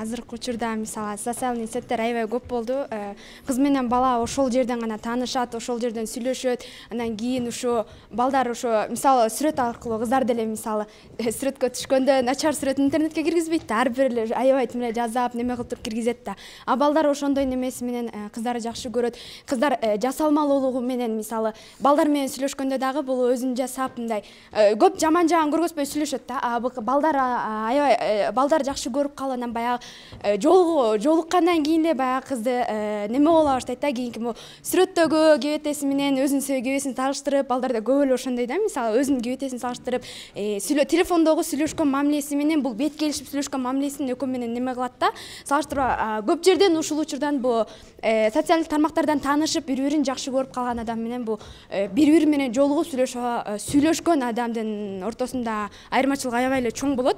азыркы учурда мисалы социалдык сеттер аябай көп болду. Кыз менен бала ошол жерден гана таанышат, ошол жерден сүйлөшөт. Андан кийин ошо балдар ошо мисалы сүрөт аркылуу кыздар деле мисалы сүрөткө түшкөндө начар сүрөт интернетке киргизбейт да, ар бир эле аябай тимеле жазап, неме кылып туруп киргизет да. А балдар ошондой немеси менен кыздарды жакшы көрөт. Кыздар жасалмалуулугу менен мисалы балдар менен сүйлөшкөндө дагы бул өзүн жасап мындай көп жаман жагын көргөзбөй сүйлөшөт да. Балдар аябай балдар жакшы көрүп калып анан баягы жолуккандан кийин эле баягы кызды неме боло баштайт да. Кийинки сүрөттөгү кебетеси менен өзүнүн кебесин салыштырып, балдар да көп эле ошондой да. Мисалы өзүнүн кебетесин салыштырып, телефондогу сүйлөшкөн мамилеси менен бул бет келишип сүйлөшкөн мамилесин экөө менен неме кылат да. Салыштырып көп жерден ушул учурдан бул социалдык тармактардан таанышып, бири-бирин жакшы көрүп калган адам менен бул бири-бири менен жолугуп сүйлөшкөн адамдын ортосунда айырмачылык аябай эле чоң болот.